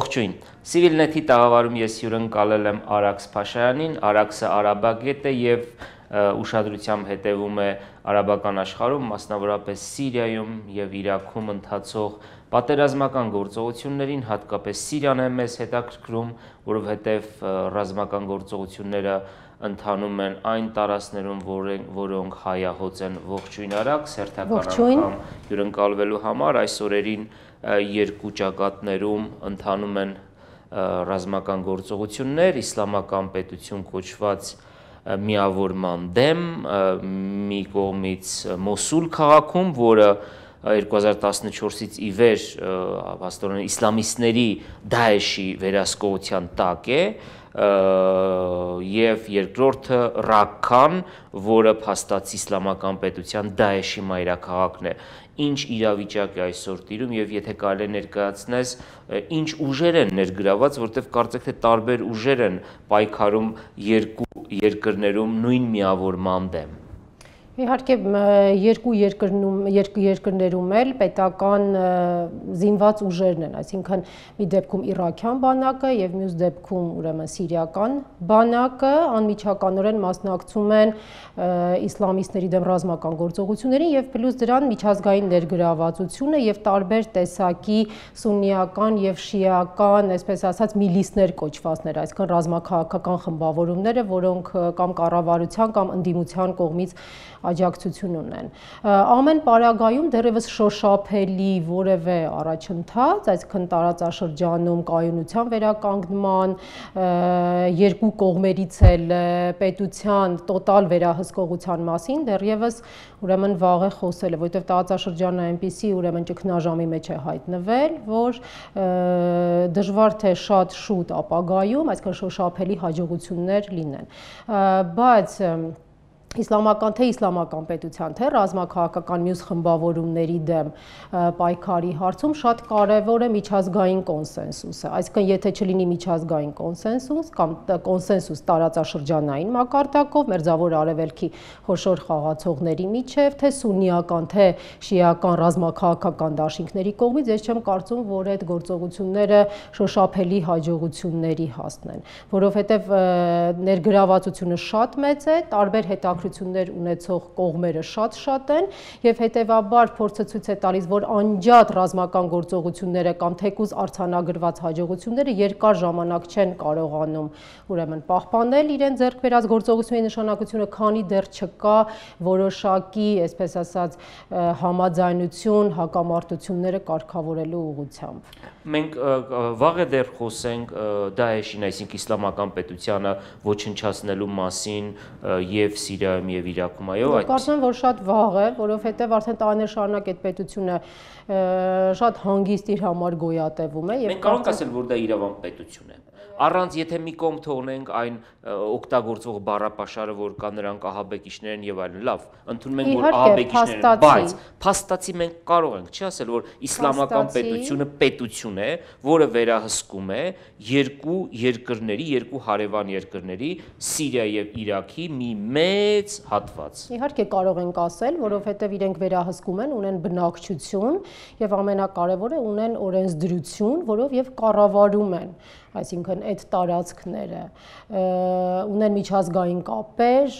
Ողջույն, Civilnet-ի տաղավարում ես հյուրընկալել եմ Արաքս Փաշայանին, Արաքսը արաբագետ է և ուշադրությամբ հետևում է արաբական աշխարհում, մասնավորապես Սիրիայում և Իրաքում ընթացող պատերազմական գործողություններին, հատկապես Սիրիան է մեզ հետաքրքրում, որովհետև ռազմական գործողությունները ընթանում են այն տարածքներում, որոնք հայահոծ են։ Ողջույն Արաքս, հերթական անգամ հյուրընկալվելու համար այս օրերին երկու ճակատներում ընթանում են ռազմական գործողություններ, իսլամական պետություն կոչված միավորման դեմ, մի կողմից Մոսուլ քաղաքում, որը 2014-ից ի վեր փաստորեն իսլամիստների Դաեշի վերահսկողության տակ է, և երկրորդը Ռաքքան, որը փաստացի իսլամական պետության Դաեշի մայրաքաղաքն է։ Ինչ իրավիճակ է այսօր տիրում և եթե կարելի է ներկայացնես, ինչ ուժեր են ներգրաված, որտեղ կարծեք թե տարբեր ուժեր են պայքարում երկու երկրներում նույն միավորման դեմ։ Իհարկե երկու երկրներում էլ պետական զինված ուժերն են, այսինքն մի դեպքում իրաքյան բանակը և մյուս դեպքում ուրեմն սիրիական բանակը անմիջականորեն մասնակցում են իսլամիստների դեմ ռազմական գործողություններին և պլյուս դրան միջազգային ներգրավվածությունը և տարբեր տեսակի սուննիական և շիական, այսպես ասած, միլիսներ կոչվածներ, այսինքն ռազմաքաղաքական խմբավորումները, որոնք կամ կառավարության կամ ընդդիմության կողմից աջակցություն ունեն։ Ամեն պարագայում դեռևս շոշափելի որևէ առաջընթաց, այսինքն տարածաշրջանում կայունության վերականգնման, երկու կողմերից էլ պետության տոտալ վերահսկողության մասին դեռևս ուրեմն վաղ է խոսելը, որովհետև տարածաշրջանը այնպիսի ուրեմն ճգնաժամի մեջ է հայտնվել, որ դժվար թե շատ շուտ ապագայում, այսինքն շոշափելի հաջողություններ լինեն, բայց իսլամական պետության, թե ռազմաքաղաքական մյուս խմբավորումների դեմ պայքարի հարցում շատ կարևոր է միջազգային կոնսենսուսը, այսինքն եթե չլինի միջազգային կոնսենսուս կամ կոնսենսուս տարածաշրջանային մակարդակով, Մերձավոր Արևելքի խոշոր խաղացողների միջև, թե սուննիական, թե շիական ռազմաքաղաքական դաշինքների կողմից, ես չեմ կարծում, որ այդ գործողությունները շոշափելի հաջողությունների հասնեն, որովհետև ներգրավվածությունը շատ մեծ է, տարբեր հետաքրքրություններ ունեցող կողմերը շատ են և հետևաբար փորձը ցույց է տալիս, որ անջատ ռազմական գործողությունները կամ թեկուզ արձանագրված հաջողությունները երկար ժամանակ չեն կարողանում ուրեմն պահպանել իրեն ձեռք բերած գործողությունների նշանակությունը, քանի դեռ չկա որոշակի, այսպես ասած, համաձայնություն հակամարտությունները կարգավորելու ուղղությամբ։ Մենք վաղ է դեռ խոսենք Դաեշին, այսինքն իսլամական պետությանը ոչնչացնելու մասին և Սիրիայում և Իրաքում, այո։ Կարծում եմ, որ շատ վաղ է, որովհետև արդեն տարիներ շարունակ այդ պետությունը շատ հանգիստ իր համար գոյատևում է։ Մենք կարող ենք ասել, որ դա իրավամբ պետություն է։ Առանց եթե մի կողմ թողնենք այն օգտագործվող բառապաշարը, որ կա նրանք ահաբեկիչներ են և այլն, լավ, ընդունում ենք, որ ահաբեկիչներ են, բայց փաստացի մենք կարող ենք չի ասել, որ իսլամական պետությունը պետություն է, որը վերահսկում է երկու երկրների, երկու հարևան երկրների, Սիրիա և Իրաքի մի մեծ հատված։ Իհարկե կարող ենք ասել, որովհետև իրենք վերահսկում են, ունեն բնակչություն և ամենակարևորը ունեն օրենսդրություն, որով և կառավարում են, այսինքն այդ տարածքները, ունեն միջազգային կապեր,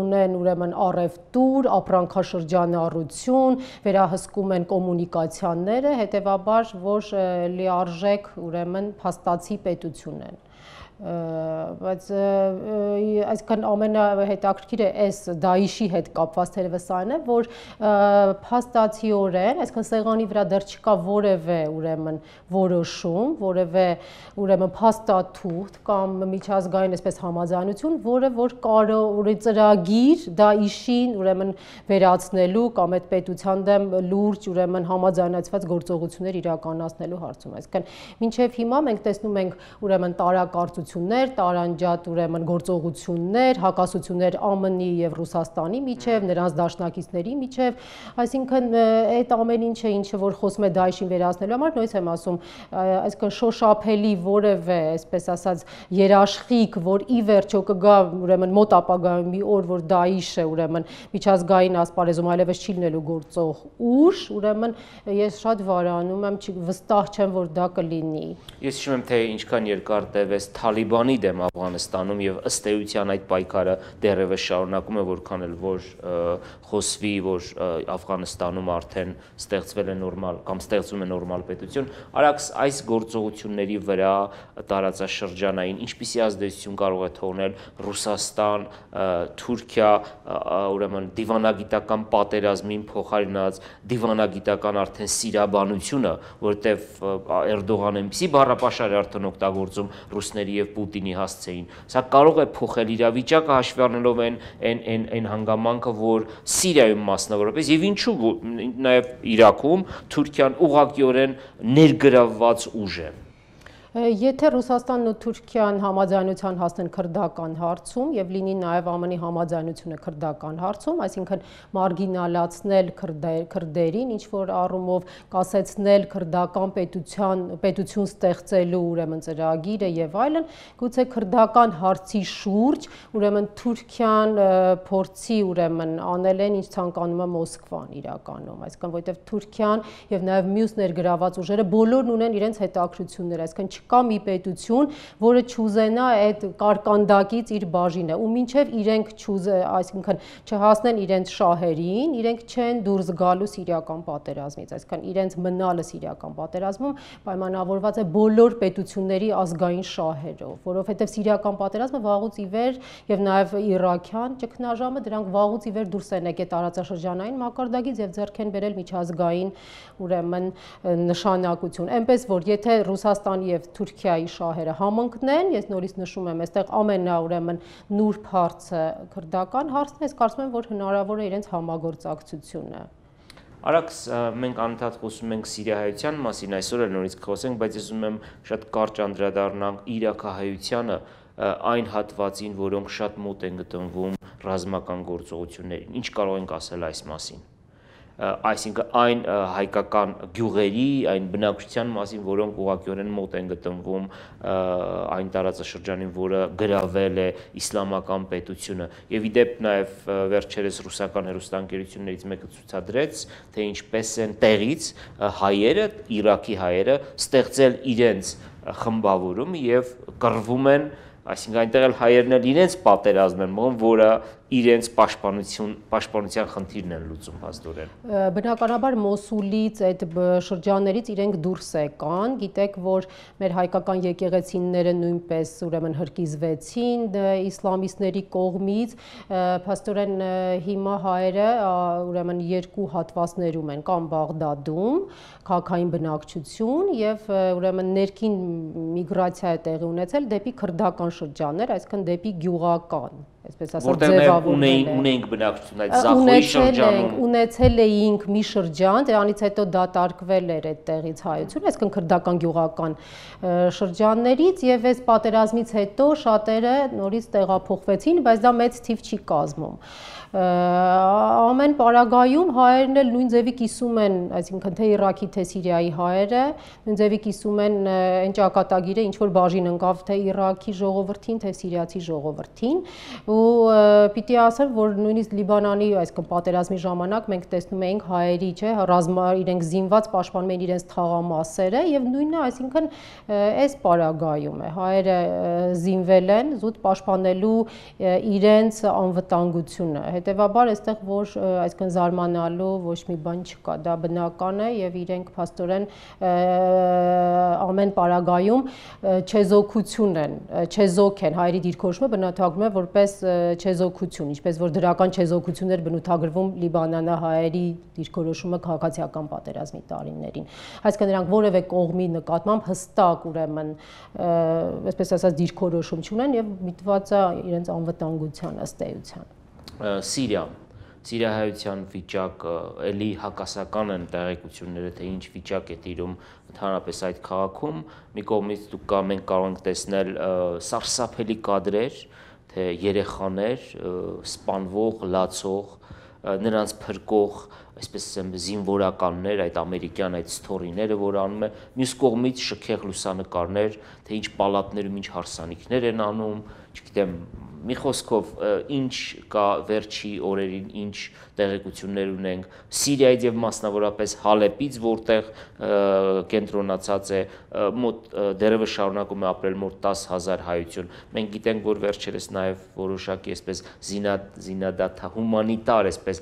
ունեն ուրեմն առևտուր, ապրանքաշրջանառություն, վերահսկում են կոմունիկացիաները, հետևաբար որ լիարժեք ուրեմն փաստացի պետություն են։ Բայց այսինքն ամենահետաքրքիրը այս Դաիշի հետ կապված թերևս այն է, որ փաստացիորեն, այսինքն սեղանի վրա դեռ չկա որևէ ուրեմն որոշում, որևէ ուրեմն փաստաթուղթ կամ միջազգային այսպես համաձայնություն, որը որ կարող ծրագիր Դաիշին ուրեմն վերացնելու կամ այդ պետության դեմ լուրջ ուրեմն համաձայնեցված գործողություններ իրականացնելու հարցում, այսինքն մինչև հիմա մենք տեսնում ենք ուրեմն տարակարծություն հակասություններ, տարանջատ ուրեմն գործողություններ, հակասություններ ԱՄՆ-ի եւ Ռուսաստանի միջև, նրանց դաշնակիցների միջև, այսինքն այդ ամեն ինչը, ինչը որ խոսում է Դաեշին վերացնելու համար, նույնիսկ եմ ասում, այսինքն շոշափելի որևէ, այսպես ասած, երաշխիք, որ ի վերջո կգա ուրեմն մոտ ապագայում մի օր, որ Դաեշը ուրեմն միջազգային ասպարեզում այլևս չի լինելու գործող ուժ, ուրեմն ես շատ վարանում եմ, վստահ չեմ, որ դա կլինի։ Ես հիշում եմ, թե ինչքան երկար տևեց Թալիբանի դեմ Աֆղանստանում եւ ըստ էության այդ պայքարը դեռևս շարունակում է, որքան էլ որ խոսվի, որ Աֆղանստանում արդեն ստեղծվել է նորմալ կամ ստեղծվում է նորմալ պետություն, արագ այս գործողությունների վրա տարածաշրջանային ինչպիսի ազդեցություն կարող է թողնել Ռուսաստան, Թուրքիա, ուրեմն դիվանագիտական պատերազմին փոխարինած դիվանագիտական արդեն սիրաբանությունը, որտեղ Էրդողանը այնպիսի բառապաշար է արդեն օգտագործում ռուսների եւ Պուտինի հասցեին։ Սա կարող է փոխել իրավիճակը հաշվի առնելով այն հանգամանքը, որ Սիրիայում մասնավորապես եւ ինչու նաեւ Իրաքում Թուրքիան ուղղակիորեն ներգրավված ուժ է։ Եթե Ռուսաստանն ու Թուրքիան համաձայնության հասնեն քրդական հարցում եւ լինի նաեւ ԱՄՆ-ի համաձայնությունը քրդական հարցում, այսինքն մարգինալացնել քրդերին, ինչ որ առումով կասեցնել քրդական պետություն ստեղծելու ուրեմն ծրագիրը եւ այլն, գուցե քրդական հարցի շուրջ ուրեմն Թուրքիան փորձի ուրեմն անել են, ինչ ցանկանում է Մոսկվան իրականում, այսինքն որովհետեւ Թուրքիան եւ նաեւ մյուս ներգրաված ուժերը բոլորն ունեն իրենց հետաքրություններ, այսինքն կա մի պետություն, որը չուզենա այդ կարկանդակից իր բաժինը, ու մինչև իրենք այսինքն չհասնեն իրենց շահերին, իրենք չեն դուրս գալու սիրիական պատերազմից, այսինքն իրենց մնալը սիրիական պատերազմում պայմանավորված է բոլոր պետությունների ազգային շահերով, որովհետև սիրիական պատերազմը վաղուց ի վեր եւ նաեւ իրաքյան ճգնաժամը դրանք վաղուց ի վեր դուրս են եկել տարածաշրջանային մակարդակից եւ ձեռք են բերել միջազգային ուրեմն նշանակություն, այնպես որ եթե Ռուսաստանի եւ Թուրքիայի շահերը համընկնեն, ես նորից նշում եմ, այստեղ ուրեմն նուրբ հարցը քրդական հարցն է, ես կարծում եմ, որ հնարավոր է իրենց համագործակցությունը։ Արաքս մենք անընդհատ խոսում ենք սիրիահայության մասին, այսօր էլ նորից կխոսենք, բայց ես ուզում եմ շատ կարճ անդրադառնանք իրաքահայությանը, այն հատվածին, որոնք շատ մոտ են գտնվում ռազմական գործողություններին։ Ինչ կարող ենք ասել այս մասին։ Այսինքն այն հայկական գյուղերի, այն բնակչության մասին, որոնք ուղղակիորեն մոտ են գտնվում այն տարածաշրջանին, որը գրավել է իսլամական պետությունը։ Եվ ի դեպ նաև վերջերս ռուսական հեռուստաընկերություններից մեկը ցուցադրեց, թե ինչպես են տեղից հայերը, Իրաքի հայերը ստեղծել իրենց խմբավորում եւ կռվում են, այսինքն այնտեղ էլ հայերն էլ իրենց պատերազմ են մղում, որը իրենց պաշտպանության խնդիրն են լուծում փաստորեն։ Բնականաբար Մոսուլից այդ շրջաններից իրենք դուրս եկան, գիտեք, որ մեր հայկական եկեղեցիները նույնպես ուրեմն հրկիզվեցին իսլամիստների կողմից, փաստորեն հիմա հայերը ուրեմն երկու հատվածներում են, կամ Բաղդադում, քաղաքային բնակչություն եւ ուրեմն ներքին միգրացիա է տեղի ունեցել դեպի քրդական շրջաններ, այսինքն դեպի գյուղական, այսպես ասած ձևավորվել ունենք բնակչություն այդ Զախոյի շրջանում ունեցել էինք մի շրջան, դրանից հետո դատարկվել էր այդտեղից հայությունը, այսինքն քրդական գյուղական շրջաններից եւ այս պատերազմից հետո շատերը նորից տեղափոխվեցին, բայց դա մեծ թիվ չի կազմում։ Ամեն պարագայում հայերն էլ նույն ձևի կիսում են, այսինքն թե Իրաքի, թե Սիրիայի հայերը, նույն ձևի կիսում են այն ճակատագիրը, ինչ որ բաժին ընկավ թե Իրաքի ժողովրդին, թե Սիրիացի ժողովրդին, ու պիտի ասեմ, որ նույնիսկ Լիբանանի, այսինքն պատերազմի ժամանակ մենք տեսնում էինք հայերի, չէ, իրենք զինված պաշտպանում են իրենց թաղամասերը եւ նույնը, այսինքն այս պարագայում է, հայերը զինվել են զուտ պաշտպանելու իրենց անվտանգությունը։ Հետևաբար այստեղ որ այսինքն զարմանալու ոչ մի բան չկա, դա բնական է եւ իրենք փաստորեն ամեն պարագայում չեզոքություն են, չեզոք են, հայերի դիրքորոշումը բնութագրվում է որպես չեզոքություն, ինչպես որ դրական չեզոքություններ բնութագրվում լիբանանահայերի դիրքորոշումը քաղաքացիական պատերազմի տարիներին։ Այսինքն նրանք որևէ կողմի նկատմամբ հստակ ուրեմն այսպես ասած դիրքորոշում չունեն եւ միտված է իրենց անվտանգության ըստ էության։ Սիրիա սիրիահայության վիճակը էլի հակասական են տեղեկությունները, թե ինչ վիճակ է տիրում ընդհանրապես այդ քաղաքում։ Մի կողմից մենք կարող ենք տեսնել սարսափելի կադրեր, թե երեխաներ սպանվող, լացող, նրանց փրկող, այսպես ասեմ, զինվորականներ, այդ ամերիկյան այդ սթորիները, որ անում է, մյուս կողմից շքեղ լուսանկարներ, թե ինչ պալատներում ինչ հարսանիքներ են անում, չգիտեմ, մի խոսքով ինչ կա վերջի օրերին, ինչ տեղեկություններ ունենք Սիրիայից եւ մասնավորապես Հալեպից, որտեղ կենտրոնացած է մոտ դեռևս շարունակում է ապրել մոտ 10,000 հայություն։ Մենք գիտենք, որ վերջերս նաեւ որոշակի այսպես զինադադար, հումանիտար այսպես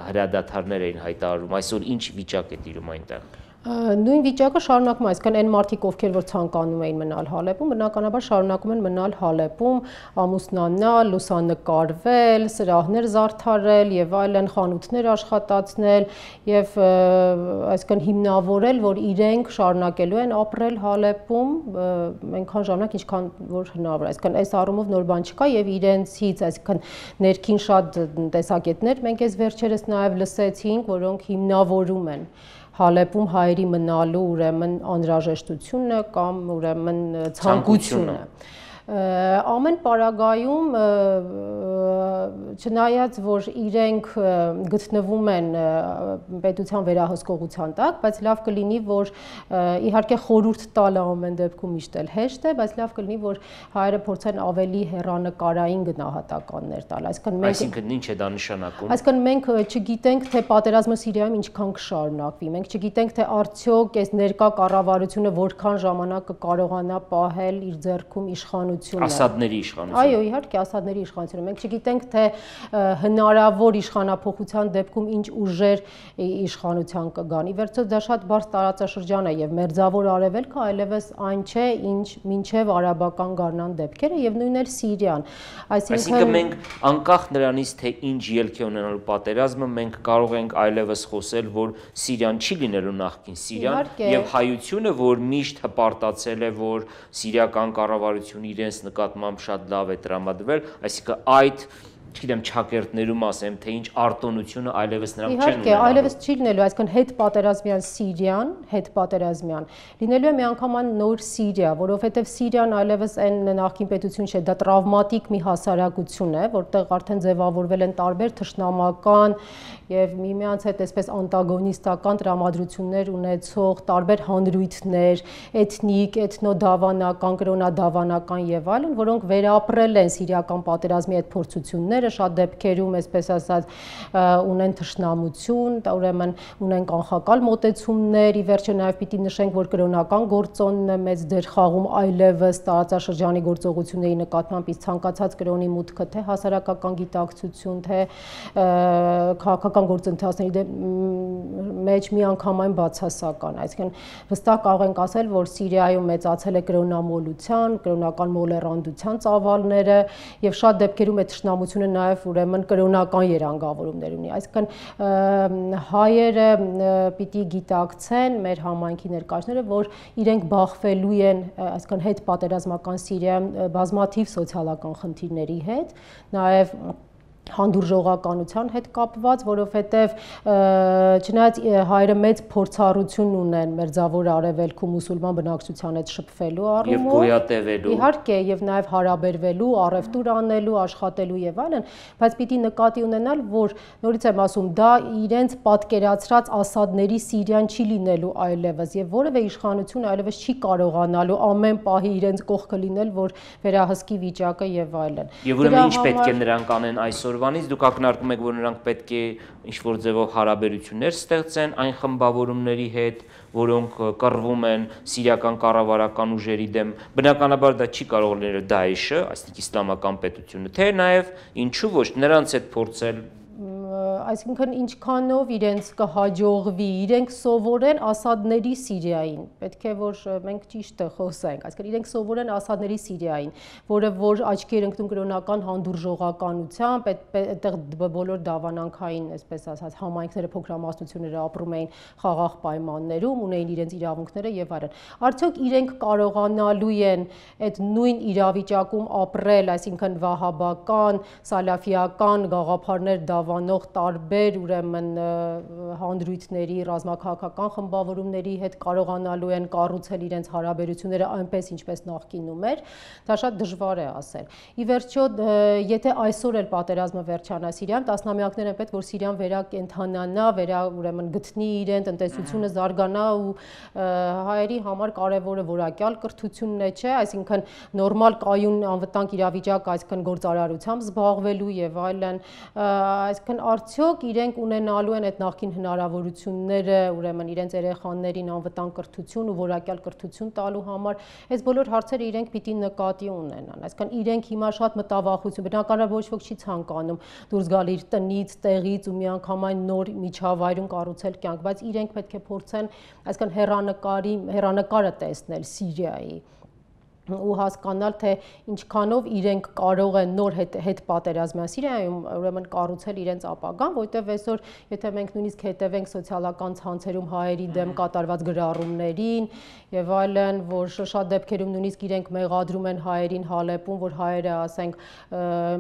հրադադարներ էին հայտարարում։ Այսօր ինչ վիճակ է տիրում այնտեղ։ Նույն վիճակը շարունակում է, այսինքն այն մարդիկ, ովքեր որ ցանկանում էին մնալ Հալեպում, բնականաբար շարունակում են մնալ Հալեպում, ամուսնանալ, լուսանկարվել, սրահներ զարդարել եւ այլն, խանութներ աշխատացնել եւ այսինքն հիմնավորել, որ իրենք շարունակելու են ապրել Հալեպում, այնքան ժամանակ, ինչքան որ հնարավոր է, այսինքն այս առումով նոր բան չկա եւ իրենցից, այսինքն ներքին շատ տեսակետներ մենք այս վերջերս նաեւ լսեցինք, որոնք հիմնավորում են Հալեպում հայերի մնալու ուրեմն անհրաժեշտությունը կամ ուրեմն ցանկությունը։ Ամեն պարագայում չնայած որ իրենք գտնվում են պետության վերահսկողության տակ, բայց լավ կլինի որ իհարկե խորհուրդ տալը ամեն դեպքում միշտ էլ հեշտ է, բայց լավ կլինի որ հայերը փորձեն ավելի հեռանկարային գնահատականներ տալ, այսինքն ինչ է դա նշանակում։ Այսինքն մենք չգիտենք թե պատերազմը Սիրիայում ինչքան կշարունակվի, մենք չգիտենք թե արդյոք այս ներկա կառավարությունը որքան ժամանակ կկարողանա պահել իր ձեռքում իշխանությունը Ասադների իշխանությունը։ Այո, իհարկե, Ասադների իշխանությունը։ Մենք չգիտենք, թե հնարավոր իշխանափոխության դեպքում ինչ ուժեր իշխանության կգան։ Ի վերջո դա շատ բարձ տարածաշրջան է եւ Մերձավոր Արևելքը այլևս այն չէ, ինչ մինչեւ արաբական գարնան դեպքերը եւ նույնն էլ Սիրիան։ Այսինքն մենք անկախ նրանից, թե ինչ ելք է ունենալու պատերազմը, մենք կարող ենք այլևս խոսել, որ Սիրիան չի լինելու նախկին Սիրիան եւ հայությունը, որ միշտ հպարտացել է, որ սիրիական կառավարությունը իրենց նկատմամբ շատ լավ է տրամադրվել, այսինքն այդ չգիտեմ չակերտներում ասեմ, թե ինչ արտոնությունը այլևս նրանք չեն ունենալու։ Իհարկե, այլևս չի լինելու, այսինքն հետ պատերազմյան Սիրիան, հետ պատերազմյան լինելու է միանգամայն նոր Սիրիա, որովհետև Սիրիան այլևս այն նախկին պետություն չէ, դա տրավմատիկ մի հասարակություն է, որտեղ արդեն ձևավորվել են տարբեր թշնամական եւ միմյանց հետ այսպես անտագոնիստական տրամադրություններ ունեցող տարբեր հանրույթներ, էթնիկ, էթնոդավանական, կրոնադավանական եւ այլն, որոնք վերապրել են սիրիական պատերազմի այդ փորձությունները, շատ դեպքերում, այսպես ասած, ունեն թշնամություն, ուրեմն ունեն կանխակալ մոտեցումներ, ի վերջո նաեւ պիտի նշենք, որ կրոնական գործոնն է մեծ դեր խաղում այլևս տարածաշրջանի գործողությունների նկատմամբ, իսկ ցանկացած կրոնի մուտքը թե հասարակական գիտակցություն, թե քաղաքական գործընթացների մեջ միանգամայն բացասական, այսինքն վստահ կարող ենք ասել, որ Սիրիայում մեծացել է կրոնամոլության, կրոնական մոլեռանդության ծավալները եւ շատ դեպքերում այդ թշնամությունը նաեւ ուրեմն կրոնական երանգավորումներ ունի, այսինքն հայերը պիտի գիտակցեն մեր համայնքի ներկայացները, որ իրենք բախվելու են, այսինքն հետ պատերազմական Սիրիայում բազմաթիվ սոցիալական խնդիրների հետ, նաեւ հանդուրժողականության հետ կապված, որովհետև չնայած հայերը մեծ փորձառություն ունեն Մերձավոր Արևելքում մուսուլման բնակչության հետ շփվելու առումով եւ գոյատևելու, իհարկե, եւ նաեւ հարաբերվելու, առևտուր անելու, աշխատելու եւ այլն, բայց պիտի նկատի ունենալ, որ նորից եմ ասում, դա իրենց պատկերացրած Ասադների Սիրիան չի լինելու այլևս եւ որևէ իշխանություն այլևս չի կարողանալու ամեն պահի իրենց կողքը լինել, որ վերահսկի վիճակը եւ այլն։ Եվ ուրեմն ինչ պետք է նրանք անեն այսօր դուք ակնարկում եք, որ նրանք պետք է ինչ-որ ձևով հարաբերություններ ստեղծեն այն խմբավորումների հետ, որոնք կռվում են սիրիական կառավարական ուժերի դեմ, բնականաբար դա չի կարող լինել Դաեշը, այսինքն իսլամական պետությունը, թե նաև ինչու ոչ նրանց հետ փորձել այսինքն ինչքանով իրենց կհաջողվի, իրենք սովորեն Ասադների Սիրիային, պետք է որ մենք ճիշտը խոսենք, այսինքն իրենք սովորեն Ասադների Սիրիային, որը որ աչքի էր ընկնում կրոնական հանդուրժողականությամբ, այդտեղ բոլոր դավանանքային, այսպես ասած, համայնքները, փոքրամասնությունները ապրում էին խաղաղ պայմաններում, ունեին իրենց իրավունքները եւ այլն։ Արդյոք իրենք կարողանալու են այդ նույն իրավիճակում ապրել, այսինքն վահաբական, սալաֆիական գաղափարներ դավանող տարբեր ուրեմն հանդրույթների, ռազմաքաղաքական խմբավորումների հետ կարողանալու են կառուցել իրենց հարաբերությունները այնպես, ինչպես նախկինում էր, դա շատ դժվար է ասել։ Ի վերջո, եթե այսօր էլ պատերազմը վերջանա Սիրիայում, տասնամյակներ են պետք, որ Սիրիան վերակենդանանա, ուրեմն գտնի իրեն, տնտեսությունը զարգանա ու հայերի համար կարևորը որակյալ կրթությունն է, չէ, այսինքն նորմալ կայուն անվտանգ իրավիճակ, այսինքն գործարարությամբ զբաղվելու եւ այլն, այսինքն արդյոք իրենք ունենալու են այդ նախկին հնարավորությունները, ուրեմն իրենց երեխաներին անվտանգ կրթություն ու որակյալ կրթություն տալու համար, այս բոլոր հարցերը իրենք պիտի նկատի ունենան, այսինքն իրենք հիմա շատ մտավախություն, բնականաբար ոչ ոք չի ցանկանում դուրս գալ իր տնից, տեղից ու միանգամայն նոր միջավայրում կառուցել կյանք, բայց իրենք պետք է փորձեն, այսինքն հեռանկարը տեսնել Սիրիայի ու հասկանալ, թե ինչքանով իրենք կարող են նոր հետ պատերազմյան Սիրիայում ուրեմն կառուցել իրենց ապագան, որտեղ այսօր, եթե մենք նույնիսկ հետևենք սոցիալական ցանցերում հայերի դեմ կատարված գրառումներին եւ այլն, որ շատ դեպքերում նույնիսկ իրենք մեղադրում են հայերին Հալեպում, որ հայերը, ասենք,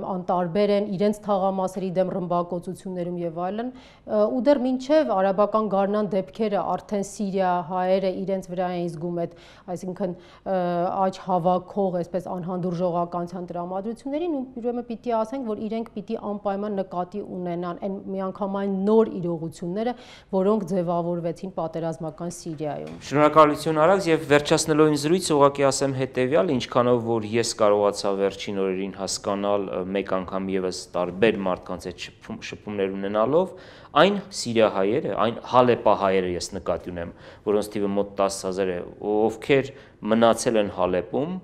անտարբեր են իրենց թաղամասերի դեմ ռմբակոծություններում եւ այլն, ու դեռ մինչեւ արաբական գարնան դեպքերը արդեն Սիրիա հայերը իրենց վրա են զգում այդ, այսինքն աճ հավաքող, այսպես անհանդուրժողականության տրամադրություններին, ու ուրեմն պիտի ասենք, որ իրենք պիտի անպայման նկատի ունենան այն միանգամայն նոր իրողությունները, որոնք ձևավորվեցին պատերազմական Սիրիայում։ Շնորհակալություն Արաքս, եւ վերջացնելով իմ զրույցը ուղղակի ասեմ հետեւյալ, ինչքանով որ ես կարողացա վերջին օրերին հասկանալ մեկ անգամ եւս տարբեր մարդկանց այդ շփումներ ունենալով, այն սիրիահայերը, այն հալեպահայերը ես նկատի ունեմ, որոնց թիվը մոտ 10,000 է, ովքեր մնացել են Հալեպում,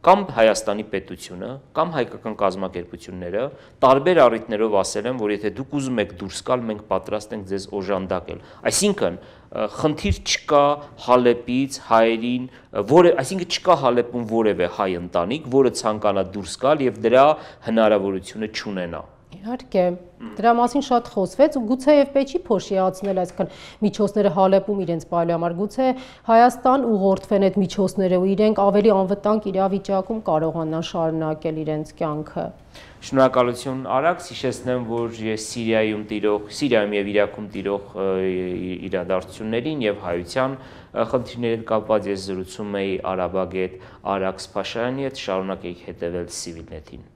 կամ Հայաստանի պետությունը, կամ հայկական կազմակերպությունները տարբեր առիթներով ասել են, որ եթե դուք ուզում եք դուրս գալ, մենք պատրաստ ենք ձեզ օժանդակել։ Այսինքն, խնդիր չկա Հալեպից հայերին, այսինքն չկա Հալեպում որևէ հայ ընտանիք, որը ցանկանա դուրս գալ եւ դրա հնարավորությունը չունենա։ Իհարկե, դրա մասին շատ խոսվեց ու գուցե եւ պետք չի փոշիացնել, այսինքն միջոցները Հալեպում իրենց պայելու համար, գուցե Հայաստան ուղղորդվեն այդ միջոցները ու իրենք ավելի անվտանգ իրավիճակում կարողանան շարունակել իրենց կյանքը։ Շնորհակալություն Արաքս, հիշեցնեմ, որ ես Սիրիայում եւ Իրաքում տիրող իրադարձություններին եւ հայության խնդիրների հետ կապված ես զրուցում էի արաբագետ Արաքս Փաշարյանի հետ, շարունակեք հետևել Civilnet-ին։